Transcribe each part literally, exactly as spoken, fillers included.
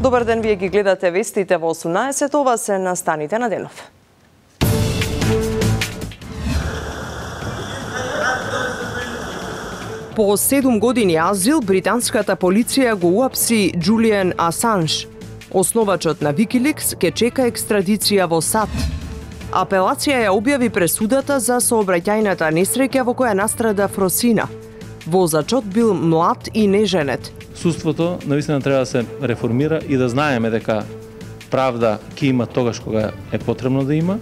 Добар ден, вие ги гледате вестите во осумнаесет, ова се настаните на денов. По седум години азил, британската полиција го уапси Џулијан Асанж. Основачот на Викиликс ке чека екстрадиција во САД. Апелација ја објави пресудата за сообраќајната несреќа во која настрада Фросина. Возачот бил млад и неженет. Судството навистина треба да се реформира и да знаеме дека правда ќе има тогаш кога е потребно да има.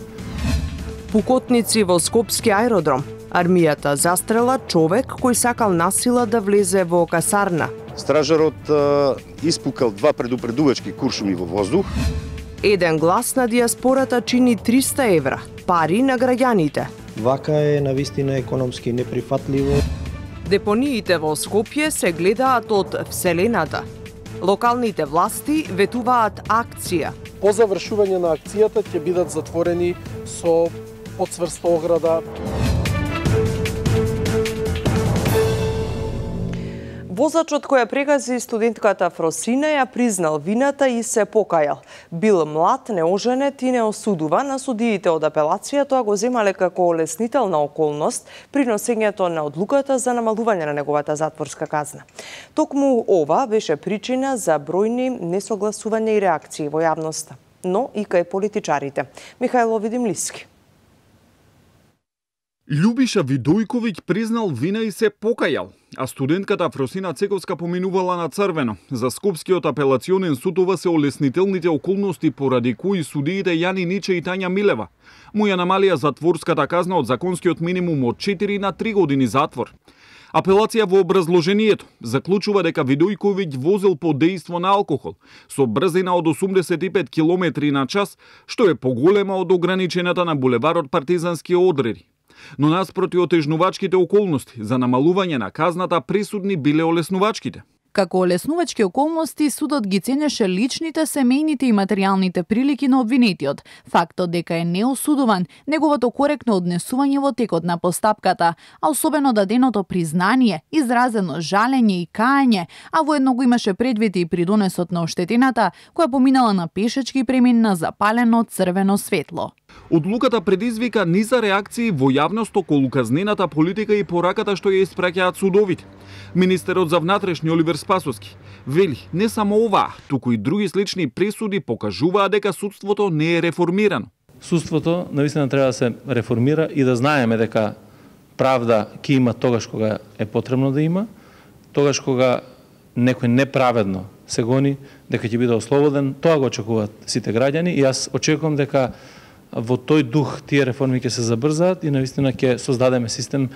Пукотници во Скопски аеродром. Армијата застрела човек кој сакал насила да влезе во касарна. Стражарот а, испукал два предупредувачки куршуми во воздух. Еден глас на диаспората чини триста евра, пари на граѓаните. Вака е навистина економски неприфатливо. Депониите во Скопје се гледаат од Вселената. Локалните власти ветуваат акција. По завршување на акцијата ќе бидат затворени со подцврста ограда. Возачот која прегази студентката Фросина ја признал вината и се покајал. Бил млад, неоженет и неосудуван, а судиите од апелација тоа го земале како олеснителна околност при носењето на одлуката за намалување на неговата затворска казна. Токму ова беше причина за бројни несогласувања и реакции во јавноста, но и кај политичарите. Михајло Видимлиски. Љубиша Видојковиќ признал вина и се покајал, а студентката Фросина Цековска поминувала на црвено. За Скопскиот апелационен суд ова се олеснителните околности поради кои судиите Јани Ниче и Тања Милева му ја намалија затворската казна од законскиот минимум од четири на три години затвор. Апелација во образложението заклучува дека Видојковиќ возел под дејство на алкохол со брзина од осумдесет и пет километри на час, што е поголема од ограничената на булеварот Партизански одреди. Но наспроти отежнувачките околности за намалување на казната, пресудни биле олеснувачките. Како олеснувачки околности, судот ги ценеше личните, семејните и материјалните прилики на обвинетиот, фактот дека е неосудуван, неговото коректно однесување во текот на постапката, а особено даденото признание, изразено жалење и каење, а воедно го имаше предвид и придонесот на оштетената, која поминала на пешачки премин на запалено црвено светло. Одлуката предизвика низа реакции во јавност околу казнената политика и пораката што ја испраќаат судовите. Министерот за внатрешни Оливер Спасовски вели, не само оваа, туку и други слични пресуди покажуваат дека судството не е реформирано. Судството навистина треба да се реформира и да знаеме дека правда ќе има тогаш кога е потребно да има, тогаш кога некој неправедно се гони, дека ќе биде ослободен, тоа го очекуваат сите граѓани и јас очекувам дека во тој дух тие реформи ќе се забрзаат и навистина ќе создадеме систем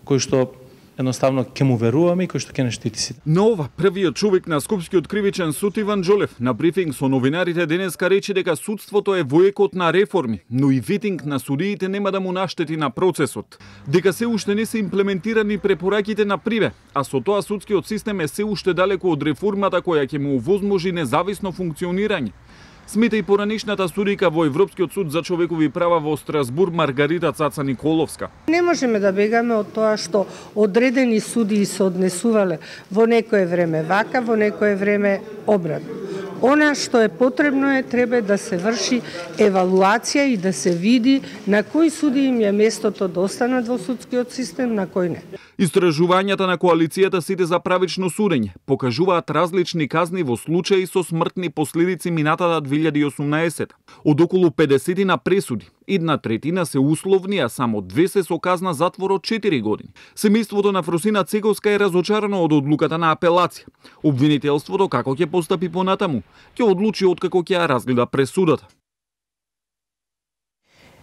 кој што едноставно ќе му веруваме и кој што ќе не штити сите. На ова, првиот човек на Скопскиот кривичен суд Иван Џолев на брифинг со новинарите денеска рече дека судството е во екот на реформи, но и витинг на судиите нема да му наштети на процесот. Дека се уште не се имплементирани препораките на Приве, а со тоа судскиот систем е се уште далеко од реформата која ќе му овозможи независно функционирање. Смета и поранишната судика во Европскиот суд за човекови права во Страсбур Маргарита Цаца Николовска. Не можеме да бегаме од тоа што одредени судии се однесувале во некое време вака, во некое време обратно. Она што е потребно е треба да се врши евалуација и да се види на кои судии им е местото да останат во судскиот систем, на кои не. Истражувањата на коалицијата Сите за правично судење покажуваат различни казни во случаи со смртни последици минатата две илјади и осумнаесета. Од околу педесет на пресуди, една третина се условни, а само две се со казна затвор од четири години. Семејството на Фросина Цековска е разочарано од одлуката на апелација. Обвинителството како ќе постапи понатаму, ќе одлучи откако ќе ја разгледа пресудата.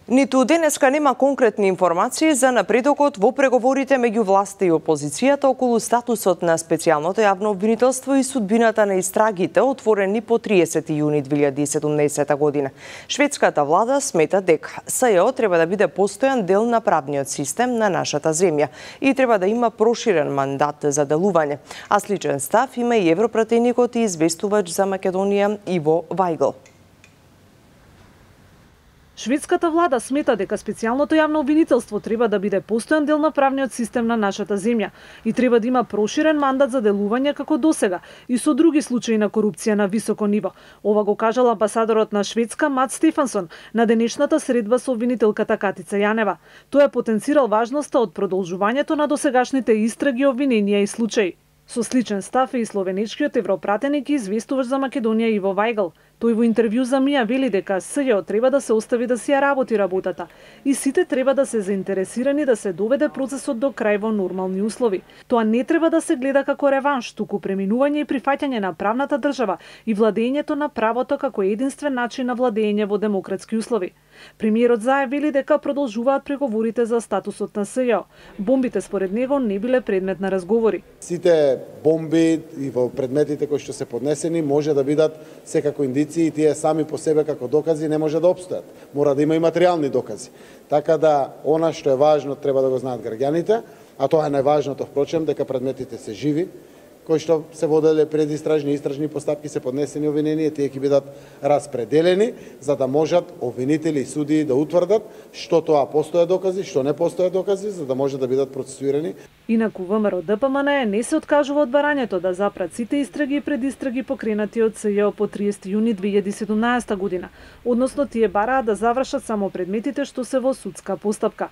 Ниту денеска нема конкретни информации за напредокот во преговорите меѓу власта и опозицијата околу статусот на специјалното јавно обвинителство и судбината на истрагите отворени по триесети јуни две илјади и седумнаесета година. Шведската влада смета дека СЈО треба да биде постојан дел на правниот систем на нашата земја и треба да има проширен мандат за делување. А сличен став има и европратеникот и известувач за Македонија Иво Вајгл. Шведската влада смета дека специјалното јавно обвинителство треба да биде постојан дел на правниот систем на нашата земја и треба да има проширен мандат за делување како досега и со други случаи на корупција на високо ниво. Ова го кажал амбасадорот на Шведска Мат Стефансон на денешната средба со обвинителката Катица Јанева. Тој е потенцирал важноста од продолжувањето на досегашните истраги, обвиненија и случаи. Со сличен став е и словенечкиот европратеник и известувач за Македонија Иво Вајгл. Тој во интервју за Мија вели дека СЈО треба да се остави да си ја работи работата и сите треба да се заинтересирани да се доведе процесот до крај во нормални услови. Тоа не треба да се гледа како реванш, туку преминување и прифаќање на правната држава и владењето на правото како единствен начин на владење во демократски услови. Премиерот Заев вели дека продолжуваат преговорите за статусот на СЈО. Бомбите според него не биле предмет на разговори. Сите бомби и во предметите кои што се поднесени може да бидат секако индици и тие сами по себе како докази не може да обстојат. Мора да има и материјални докази. Така да, она што е важно треба да го знаат граѓаните, а тоа е најважното, впрочем, дека предметите се живи, кои што се воделе предистражни и истражни постапки, се поднесени обвиненија, тие ќе бидат распределени, за да можат обвинители и судии да утврдат што тоа постојат докази, што не постојат докази, за да може да бидат процесуирани. Инаку ВМРО ДПМН не се откажува од барањето да запрат сите истраги и предистраги покренати од СЈО по триесети јуни две илјади и седумнаесета година, односно тие бараат да завршат само предметите што се во судска постапка.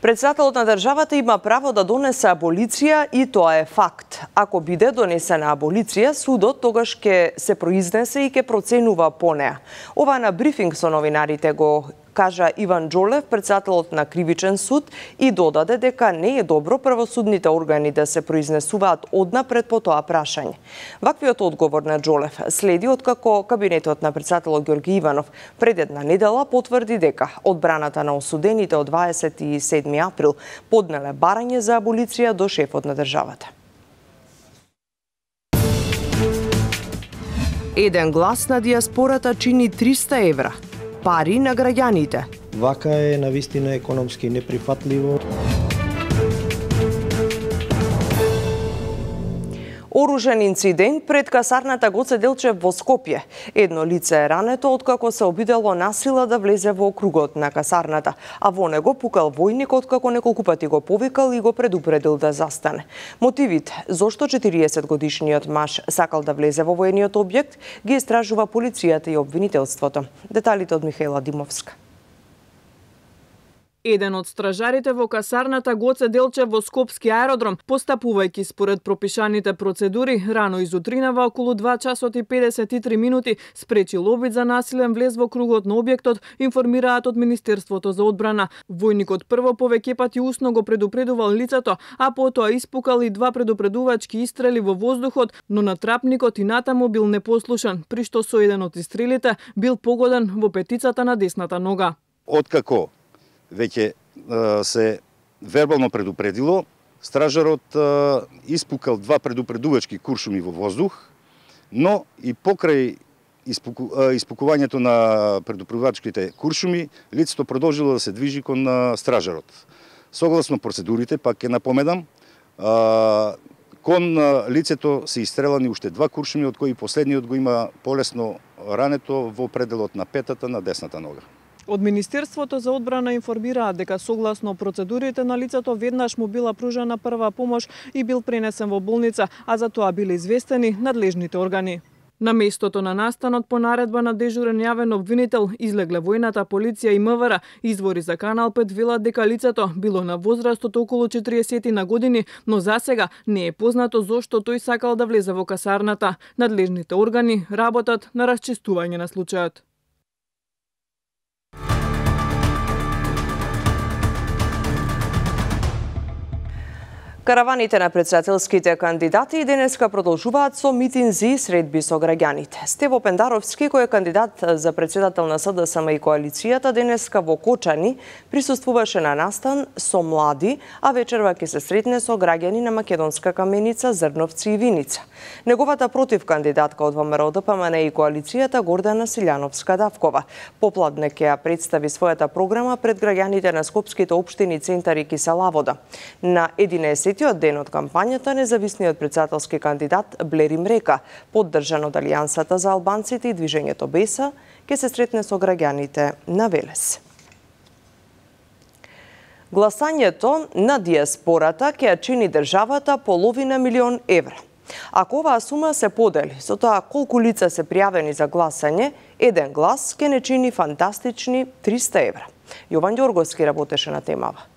Председателот на државата има право да донесе аболиција и тоа е факт. Ако биде донесена аболиција, судот тогаш ќе се произнесе и ќе проценува по неа. Ова на брифинг со новинарите го кажа Иван Џолев, председателот на Кривичен суд, и додаде дека не е добро правосудните органи да се произнесуваат однапред по тоа прашање. Ваквиот одговор на Џолев следи откако кабинетот на председателот Ѓорги Иванов пред една недела потврди дека одбраната на осудените од дваесет и седми април поднеле барање за аболиција до шефот на државата. Еден глас на диаспората чини триста евра. Пари на граѓаните. Вака е навистина економски неприфатливо. Оружен инцидент пред касарната Гоце Делчев во Скопје. Едно лице е рането откако се обидело насила да влезе во кругот на касарната, а во него пукал војник откако неколку пати го повикал и го предупредил да застане. Мотивите зошто четириесет годишниот маж сакал да влезе во воениот објект ги истражува полицијата и обвинителството. Деталите од Михаела Димовска. Еден од стражарите во касарната Гоце Делчев во Скопски аеродром, постапувајќи според пропишаните процедури, рано изутринава околу два часот и педесет и три минути спречил обид за насилен влез во кругот на објектот, информираат од Министерството за одбрана. Војникот прво повеќе пати усно го предупредувал лицето, а потоа испукал и два предупредувачки истрели во воздухот, но натрапникот и натаму бил непослушен, при што со еден од истрелите бил погоден во петицата на десната нога. Откако веќе се вербално предупредило, стражарот испукал два предупредувачки куршуми во воздух, но и покрај испуку, испукувањето на предупредувачките куршуми, лицето продолжило да се движи кон стражарот. Согласно процедурите, пак ќе напоменам, кон лицето се истрелани уште два куршуми, од кои последниот го има полесно рането во пределот на петата на десната нога. Од Министерството за одбрана информираат дека согласно процедурите на лицето веднаш му била пружена прва помош и бил пренесен во болница, а за тоа биле известени надлежните органи. На местото на настанот по наредба на дежурен јавен обвинител излегле војната полиција и МВР. Извори за Канал пет велат дека лицето било на возраст од околу четириесет на години, но засега не е познато зошто тој сакал да влезе во касарната. Надлежните органи работат на расчистување на случајот. Караваните на председателските кандидати денеска продолжуваат со митинзи и средби со граѓаните. Стево Пендаровски, кој е кандидат за председател на СДСМ и коалицијата, денеска во Кочани присуствуваше на настан со млади, а вечерва ќе се сретне со граѓани на Македонска Каменица, Зрновци и Виница. Неговата против кандидатка од ВМРО ДПМН и коалицијата Гордана Силјановска-Давкова попладне ќе ја представи својата програма пред граѓаните на скопските општини Центар и Киселавода. На единесетиот ден од кампањата, независниот председателски кандидат Блерим Река, поддржан од Алијансата за албанците и движењето Беса, ќе се сретне со граѓаните на Велес. Гласањето на диаспората ќе ја чини државата половина милион евра. Ако оваа сума се подели со тоа колку лица се пријавени за гласање, еден глас ќе не чини фантастични триста евра. Јован Ѓорговски работеше на темава.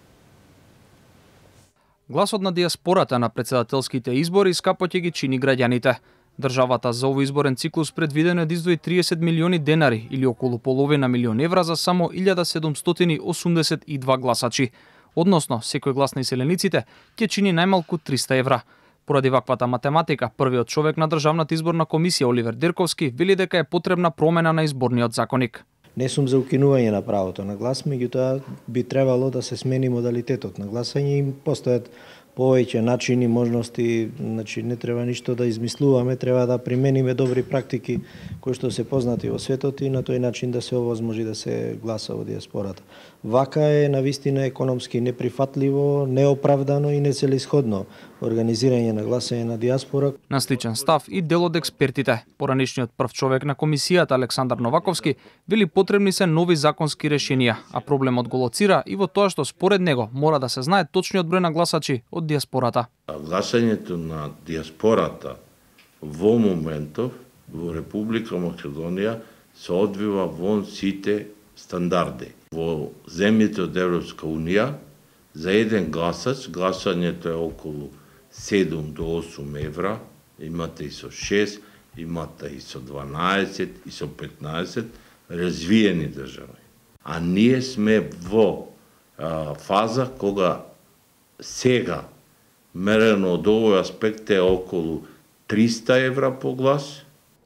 Гласот на диаспората на претседателските избори скапо ќе ги чини граѓаните. Државата за овој изборен циклус предвидено е да издвои триесет милиони денари или околу половина милион евра за само илјада седумстотини осумдесет и два гласачи. Односно, секој глас на иселениците ќе чини најмалку триста евра. Поради ваквата математика, првиот човек на Државната изборна комисија Оливер Дерковски вели дека е потребна промена на изборниот законик. Не сум за укинување на правото на глас, меѓутоа би требало да се смени модалитетот на гласање и постојат повеќе начини, можности, значи не треба ништо да измислуваме, треба да примениме добри практики кои што се познати во светот и на тој начин да се овозможи да се гласа во диаспората. Вака е навистина економски неприфатливо, неоправдано и нецелисходно организирање на гласање на диаспора. На сличен став и дел од експертите. Поранишниот прв човек на комисијата Александар Новаковски вели потребни се нови законски решенија, а проблемот го лоцира и во тоа што според него мора да се знае точниот број на гласачи од диаспората. Гласањето на диаспората во моментов во Република Македонија се одвива вон сите стандарди. Во земјите од Европска Унија за еден гласач гласањето е околу седум до осум евра, имате и со шест, имате и со дванаесет, и со петнаесет развиени држави. А ние сме во а, фаза кога сега мерено од овој аспект е околу триста евра по глас.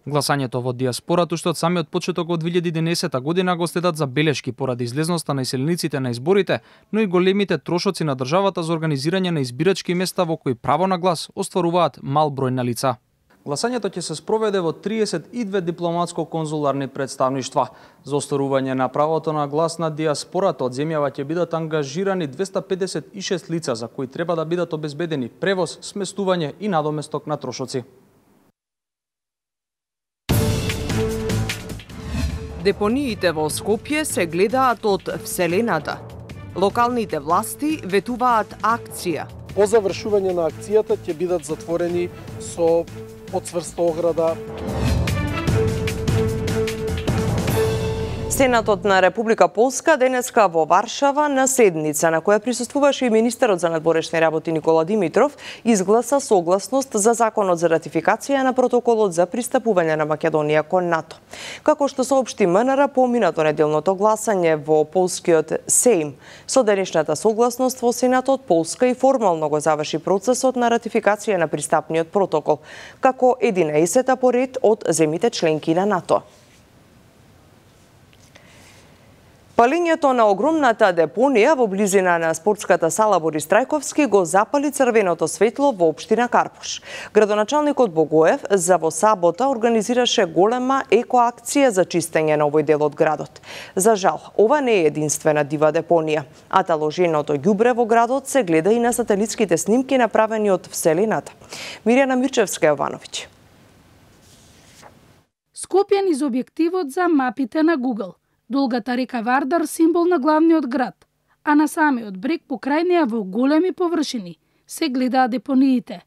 Гласањето во диаспората уште од самиот почеток од две илјади и единаесета година го следат забелешки поради излезноста на иселениците на изборите, но и големите трошоци на државата за организирање на избирачки места во кои право на глас остваруваат мал број на лица. Гласањето ќе се спроведе во триесет и две дипломатско-конзуларни представништва. За остварување на правото на глас на диаспората од земјава ќе бидат ангажирани двеста педесет и шест лица за кои треба да бидат обезбедени превоз, сместување и надоместок на трошоци. Депониите во Скопје се гледаат од вселената. Локалните власти ветуваат акција. По завршување на акцијата ќе бидат затворени со подцврста ограда. Сенатот на Република Полска денеска во Варшава на седница на која присуствуваше и министерот за надворешни работи Никола Димитров изгласа согласност за законот за ратификација на протоколот за пристапување на Македонија кон НАТО. Како што соопшти МНР по минато неделното гласање во полскиот Сейм, со денешната согласност во Сенатот Полска и формално го заврши процесот на ратификација на пристапниот протокол, како единаесета по ред од земјите членки на НАТО. Палењето на огромната депонија во близина на спортската сала Борис Трајковски го запали црвеното светло во општина Карпош. Градоначалникот Богоев за во сабота организираше голема екоакција за чистење на овој дел од градот. За жал, ова не е единствена дива депонија, а таложеното ѓубре во градот се гледа и на сателитските снимки направени од вселената. Мирјана Мирчевска-Јовановиќ. Скопје низ објективот за мапите на Google. Долгата река Вардар символ на главниот град, а на самиот брег покрај неа во големи површини се гледаат депониите.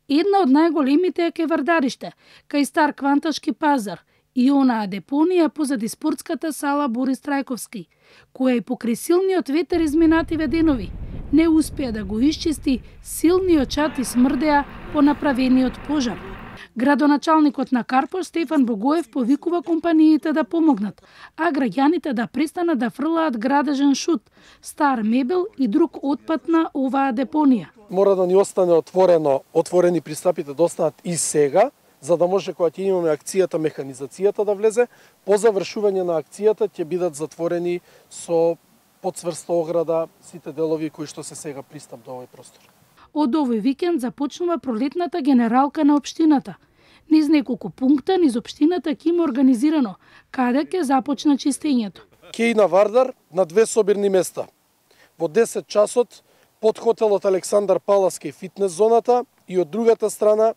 Една од најголемите е ке Вардариште, кај стар кванташки пазар и онаа депонија позади спортската сала Борис Трајковски, која и покрај силниот ветер изминативе денови не успеа да го исчисти силниот чад и смрдеа по направениот пожар. Градоначалникот на Карпош Стефан Богоев повикува компаниите да помогнат, а граѓаните да престанат да фрлаат градежен шут, стар мебел и друг отпад на оваа депонија. Мора да ни остане отворено, отворени пристапите да останат и сега, за да може кога ќе имаме акцијата, механизацијата да влезе, по завршување на акцијата ќе бидат затворени со подцврста ограда сите делови кои што се сега пристап до овој простор. Од овој викенд започнува пролетната генералка на општината. Низ неколку пункта низ општината ќе има организирано каде ќе започна чистењето. Ќе и на Вардар на две собирни места. Во десет часот под хотелот Александар Палас кај фитнес зоната и од другата страна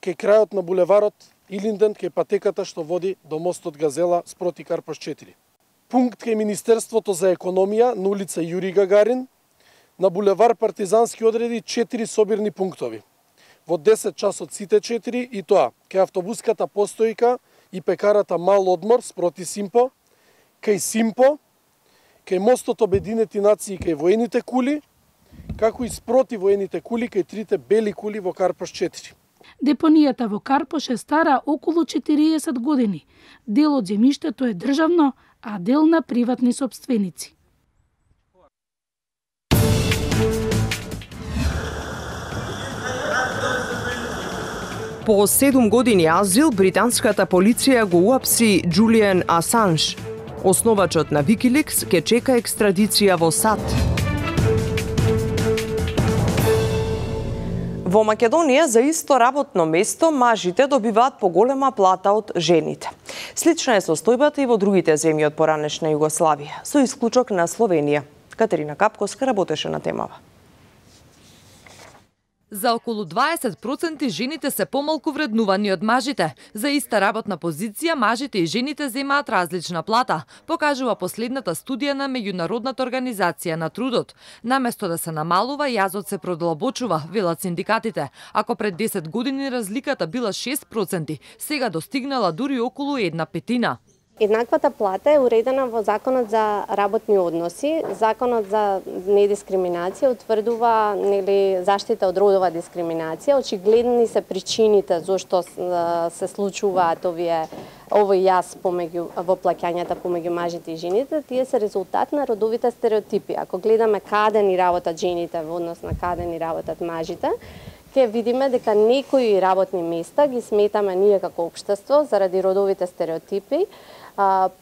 кај крајот на булеварот Илинден кај патеката што води до мостот Газела спроти Карпош четири. Пункт кај Министерството за економија на улица Јури Гагарин, на булевар Партизански одреди четири собирни пунктови. Во десет часот сите четири и тоа кај автобуската постојка и пекарата Мал одмор спроти Симпо, кај Симпо, кај мостот Обединети нации кај воените кули, како и спроти воените кули кај трите бели кули во Карпош четири. Депонијата во Карпош е стара околу четириесет години. Дел од земјиштето е државно, а дел на приватни сопственици. По седум години азил, британската полиција го уапси Џулијан Асанж. Основачот на Викиликс ке чека екстрадиција во САД. Во Македонија за исто работно место мажите добиваат поголема плата од жените. Слична е состојбата и во другите земји од поранешна Југославија, со исклучок на Словенија. Катерина Капковска работеше на темава. За околу дваесет проценти жените се помалку вреднувани од мажите. За иста работна позиција мажите и жените земаат различна плата, покажува последната студија на Меѓународната организација на трудот. Наместо да се намалува, јазот се продлабочува, велат синдикатите. Ако пред десет години разликата била шест проценти, сега достигнала дури околу една петина. Еднаквата плата е уредена во Законот за работни односи. Законот за недискриминација утврдува нели заштита од родова дискриминација. Очигледни се причините зошто се случуваат овие овој јаз помеѓу во плаќањата помеѓу мажите и жените. Тие се резултат на родовите стереотипи. Ако гледаме каде ни работат жените во однос на каде ни работат мажите, ќе видиме дека некои работни места ги сметаме ние како општество заради родовите стереотипи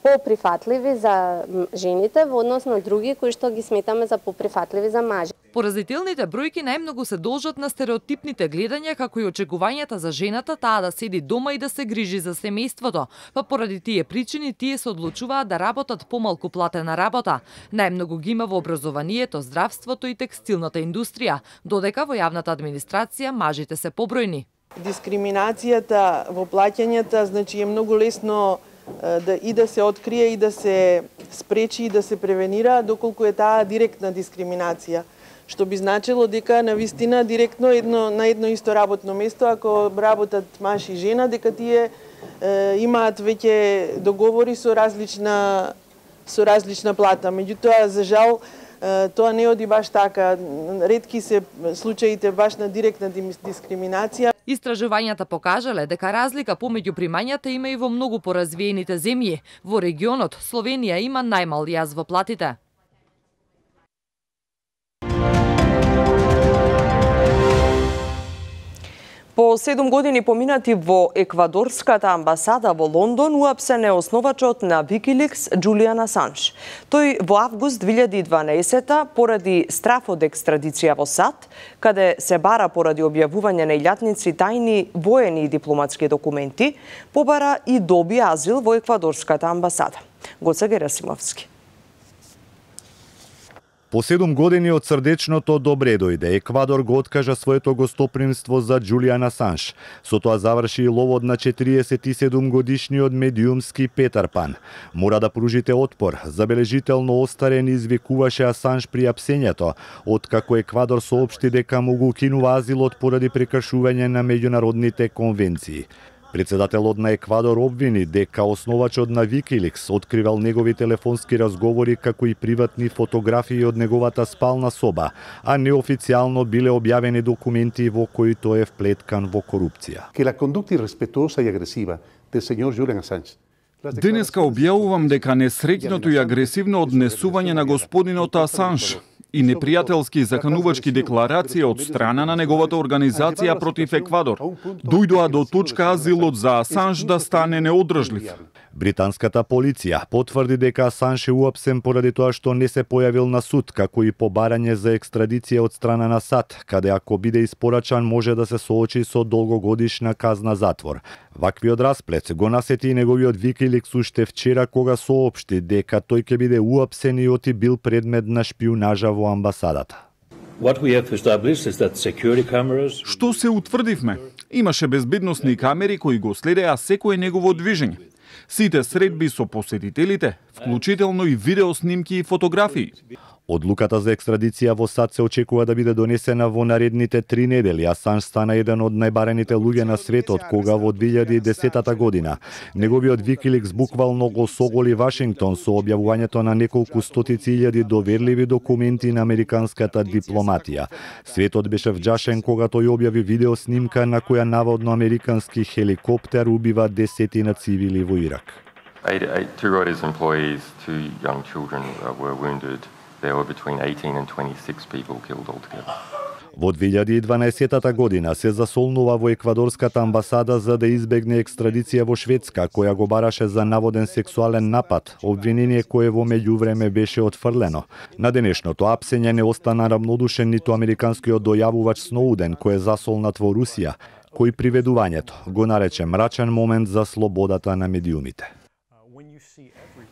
поприфатливи за жените во однос на други кои што ги сметаме за поприфатливи за мажи. Поразителните бројки најмногу се должат на стереотипните гледања како и очекувањата за жената таа да седи дома и да се грижи за семејството. Па поради тие причини тие се одлучуваат да работат помалку платена работа. Најмногу ги има во образованието, здравството и текстилната индустрија, додека во јавната администрација мажите се побројни. Дискриминацијата во плаќањата значи е многу лесно да и да се открие и да се спречи и да се превенира доколку е таа директна дискриминација, што би значило дека навистина директно едно на едно исто работно место ако работат маж и жена дека тие е, имаат веќе договори со различна со различна плата. Меѓутоа за жал тоа не оди баш така. Ретки се случаите баш на директна дискриминација. Истражувањата покажале дека разлика помеѓу примањата има и во многу поразвиените земји. Во регионот Словенија има најмал јаз во платите. По седум години поминати во еквадорската амбасада во Лондон уапсен е основачот на Викиликс Џулијан Асанж. Тој во август две илјади и дванаесета поради страф од екстрадиција во САД, каде се бара поради објавување на илјадници тајни воени и дипломатски документи, побара и доби азил во еквадорската амбасада. Гоце Герасимовски. По седум години од срдечното добре дојде, Еквадор го откажа своето гостопримство за Џулијан Асанж. Со тоа заврши и ловот на четириесет и седум годишниот медиумски Петар Пан. Мора да пружите отпор. Забележително остарен извикуваше Асанж при апсењето, откако Еквадор соопшти дека му го укинува азилот поради прекршување на меѓународните конвенции. Председателот на Еквадор обвини дека основачот на Викиликс откривал негови телефонски разговори како и приватни фотографии од неговата спална соба, а неофицијално биле објавени документи во кои тој е вплеткан во корупција. Que la conducta irrespetuosa y agresiva del señor Julian Assange. Денеска објавувам дека несреќното и агресивно однесување на господинот Асанж и непријателски заканувачки декларации од страна на неговата организација против Еквадор дојдоа до точка азилот за Асанж да стане неодржлив. Британската полиција потврди дека Асанж е уапсен поради тоа што не се појавил на суд, како и побарање за екстрадиција од страна на САД, каде ако биде испорачан може да се соочи со долгогодишна казна затвор. Ваквиот расплет го насети и неговиот Викиликс уште вчера кога соопшти дека тој ќе биде уапсен и оти бил предмет на шпиунажа во амбасадата. Што се утврдивме? Имаше безбедносни камери кои го следеа секое негово движење. Сите средби со посетителите, вклучително и видеоснимки и фотографии. Одлуката за екстрадиција во САД се очекува да биде донесена во наредните три недели, а Асанж стана еден од најбарените луѓе на светот кога во две илјади и десета година неговиот Викиликс буквално го соголи Вашингтон со објавувањето на неколку стотици илјади доверливи документи на американската дипломатија. Светот беше вџашен кога тој објави видеоснимка на која наводно американски хеликоптер убива десетина цивили во Ирак. Eight, eight, two Reuters employees, two young children uh, were wounded. There were between eighteen and twenty-six people killed altogether. Во две илјади и дванаесета година се засолнува во еквадорската амбасада за да избегне екстрадиција во Шведска, која го бараше за наводен сексуален напад, обвинение кое во меѓувреме беше отфрлено. На денешното апсење не остана рамнодушен ниту американскиот дојавувач Сноуден, кој е засолнат во Русија, кој приведувањето го нарече мрачен момент за слободата на медиумите.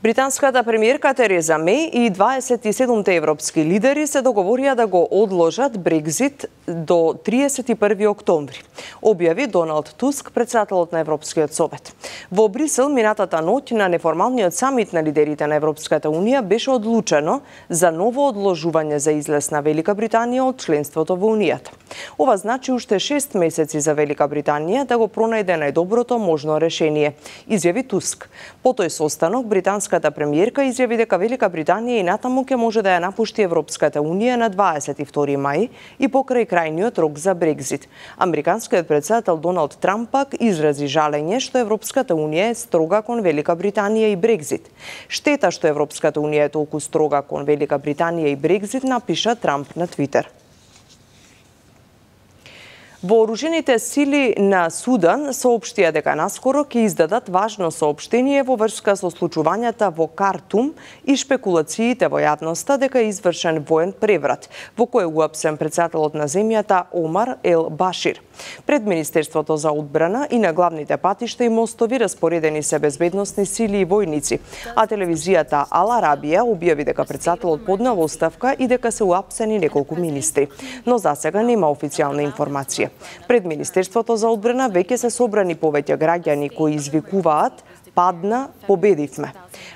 Британската премиерка Тереза Меј и дваесет и седумте европски лидери се договорија да го одложат Брекзит до триесет и први октомври, објави Доналд Туск, претседателот на Европскиот совет. Во Брисел минатата ноќ на неформалниот самит на лидерите на Европската унија беше одлучено за ново одложување за излез на Велика Британија од членството во Унијата. Ова значи уште шест месеци за Велика Британија да го пронајде најдоброто можно решение, изјави Туск. По тој состанок британската премиерка изјави дека Велика Британија и натаму ќе може да ја напушти Европската унија на дваесет и втори мај и покрај крајниот рок за Брекзит. Американскиот претседател Доналд Трамп пак изрази жалење што Европската унија е строга кон Велика Британија и Брекзит. Штета што Европската унија е толку строга кон Велика Британија и Брекзит, напиша Трамп на Твитер. Вооружените сили на Судан соопштија дека наскоро ќе издадат важно соопштение во врска со случувањата во Картум и шпекулациите во јавноста дека е извршен воен преврат, во кој е уапсен претседателот на земјата Омар Ел Башир. Пред Министерството за одбрана и на главните патишта и мостови распоредени се безбедносни сили и војници, а телевизијата Ал Арабија објави дека претседателот поднел оставка и дека се уапсени неколку министри, но засега нема официјална информација. Пред Министерството за одбрана веќе се собрани повеќе граѓани кои извикуваат "Падна, победивме".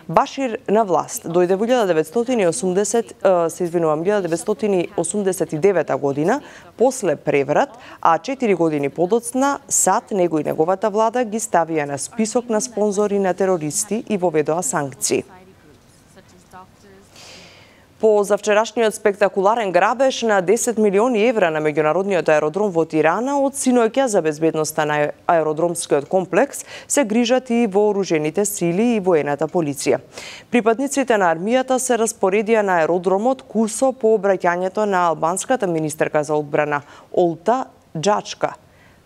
Башир на власт дојде во илјада деветстотини и осумдесет, се извинувам, илјада деветстотини и осумдесет и девета година после преврат, а четири години подоцна САД, него и неговата влада ги ставија на список на спонзори на терористи и воведоа санкции. По завчерашниот спектакуларен грабеж на десет милиони евра на меѓународниот аеродром во Тирана, од синоќа за безбедноста на аеродромскиот комплекс се грижат и вооружените сили и воената полиција. Припадниците на армијата се распоредија на аеродромот кусо по обраќањето на албанската министерка за одбрана Олта Џачка.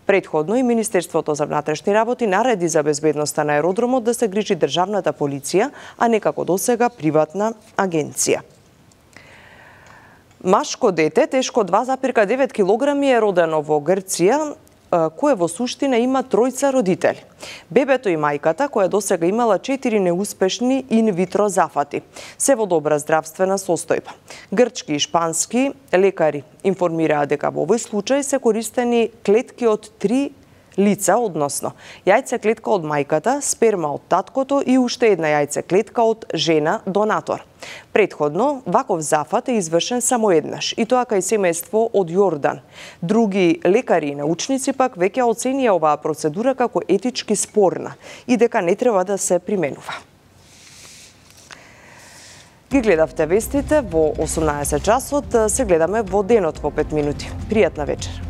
Предходно и Министерството за внатрешни работи нареди за безбедноста на аеродромот да се грижи државната полиција, а не како досега приватна агенција. Машко дете, тешко два запирка девет килограми, е родено во Грција, кое во суштина има тројца родители. Бебето и мајката, која досега имала четири неуспешни инвитро зафати, се во добра здравствена состојба. Грчки и шпански лекари информираа дека во овој случај се користени клетки од три лица, односно јајце клетка од мајката, сперма од таткото и уште една јајце клетка од жена донатор. Предходно, ваков зафат е извршен само еднаш, и тоа кај семејство од Јордан. Други лекари и научници пак веќе оценија оваа процедура како етички спорна и дека не треба да се применува. Ги гледавте вестите во осумнаесет часот, се гледаме во денот во пет минути. Пријатна вечер.